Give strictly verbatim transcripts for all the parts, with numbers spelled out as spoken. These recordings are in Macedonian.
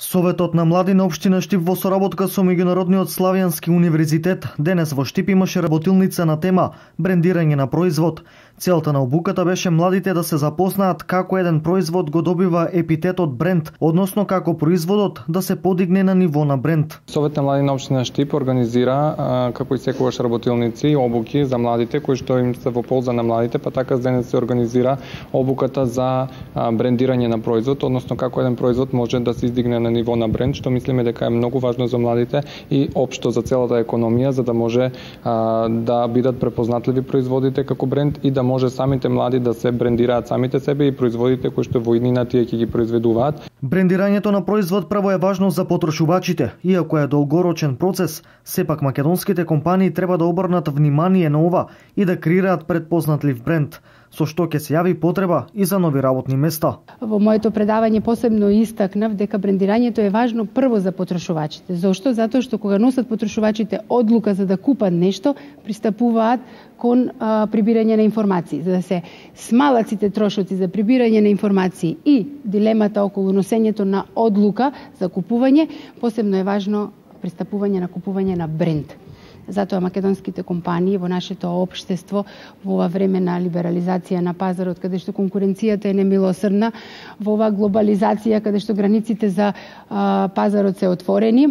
Советот на млади на општина Штип во соработка со Меѓународниот славјански универзитет денес во Штип имаше работилница на тема брендирање на производ. Целта на обуката беше младите да се запознаат како еден производ го добива епитетот бренд, односно како производот да се подигне на ниво на бренд. Совет на млади на општина Штип организира како и секогаш работилници обуки за младите кои што им се во полза на младите, па така денес се организира обуката за брендирање на производ, односно како еден производ може да се издигне на ниво на бренд, што мислиме дека е многу важно за младите и општо за целата економија, за да може а, да бидат препознатливи производите како бренд и да може самите млади да се брендираат самите себе и производите кои што во иднина тие ќе ги произведуваат. Брендирањето на производ прво е важно за потрошувачите, иако е долгорочен процес, сепак македонските компании треба да обрнат внимание на ова и да креираат предпознатлив бренд, со што ќе се јави потреба и за нови работни места. Во моето предавање посебно истакнав дека брендирањето е важно прво за потрошувачите. Зошто? Затоа што кога носат потрошувачите одлука за да купат нешто, пристапуваат кон а, прибирање на информации. За да се смалат сите трошоци за прибирање на информации и дилемата околу носењето на одлука за купување, посебно е важно пристапување на купување на бренд. Затоа македонските компании во нашето општество во ова време на либерализација на пазарот, каде што конкуренцијата е немилосрдна, во ова глобализација каде што границите за а, пазарот се отворени,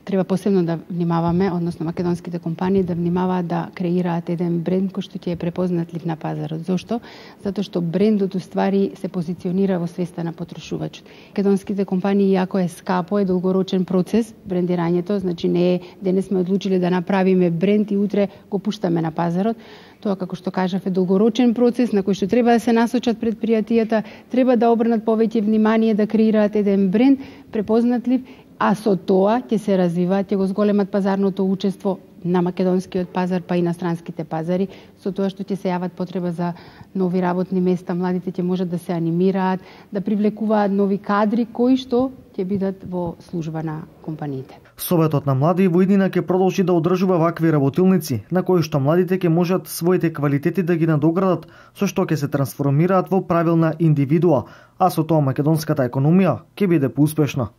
треба посебно да внимаваме, односно македонските компании да внимаваат да креираат еден бренд кој што ќе е препознатлив на пазарот. Зошто? Затоа што брендот уствари се позиционира во свеста на потрошувачот. Македонските компании, иако е скапо, е долгорочен процес брендирањето, значи не е денес сме одлучиле да направиме бренд и утре го пуштаме на пазарот. Тоа, како што кажав, е долгорочен процес на кој што треба да се насочат предпријатијата, треба да обрнат повеќе внимание да креираат еден бренд препознатлив, а со тоа ќе се развиваат, ќе го зголемат пазарното учество на македонскиот пазар, па и на странските пазари, со тоа што ќе се јават потреба за нови работни места, младите ќе можат да се анимираат, да привлекуваат нови кадри кои што ќе бидат во служба на компаниите. Советот на млади во иднина ќе продолжи да одржува вакви работилници, на кои што младите ќе можат своите квалитети да ги надоградат, со што ќе се трансформираат во правилна индивидуа, а со тоа македонската економија ќе биде поуспешна.